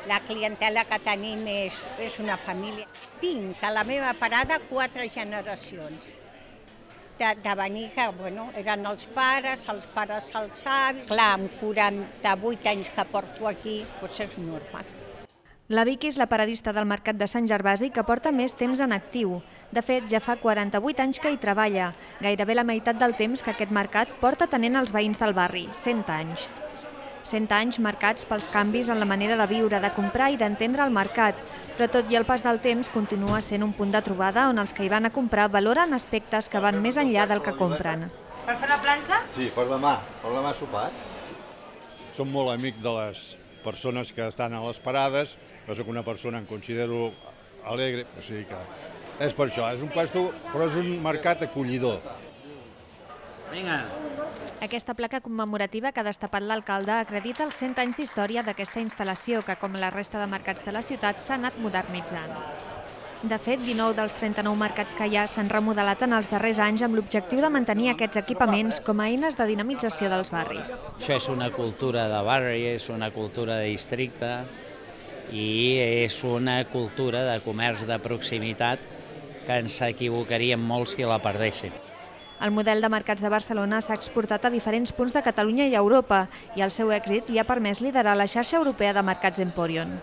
La clientela que tenim és una família. Tinc a la meva parada 4 generacions. De venir que, eren els pares els avis. Clar, amb 48 anys que porto aquí, doncs és normal. La Vicky és la paradista del Mercat de Sant Gervasi que porta més temps en actiu. De fet, ja fa 48 anys que hi treballa, gairebé la meitat del temps que aquest mercat porta tenint els veïns del barri, 100 anys. 100 anys marcats pels canvis en la manera de viure, de comprar i d'entendre el mercat, però tot i el pas del temps continua sent un punt de trobada on els que hi van a comprar valoren aspectes que van més enllà del que compren. Per fer la planxa? Sí, per demà sopat. Som molt amics de les persones que estan a les parades, jo soc una persona, em considero alegre, o sigui que és per això, és un puesto, però és un mercat acollidor. Vinga. Aquesta placa commemorativa que ha destapat l'alcalde acredita els 100 anys d'història d'aquesta instal·lació que, com la resta de mercats de la ciutat, s'ha anat modernitzant. De fet, 19 dels 39 mercats que hi ha s'han remodelat en els darrers anys amb l'objectiu de mantenir aquests equipaments com a eines de dinamització dels barris. Això és una cultura de barri, és una cultura de districte i és una cultura de comerç de proximitat que ens equivocaríem molt si la perdéssim. El model de mercats de Barcelona s'ha exportat a diferents punts de Catalunya i Europa i el seu èxit li ha permès liderar la xarxa europea de mercats Emporion.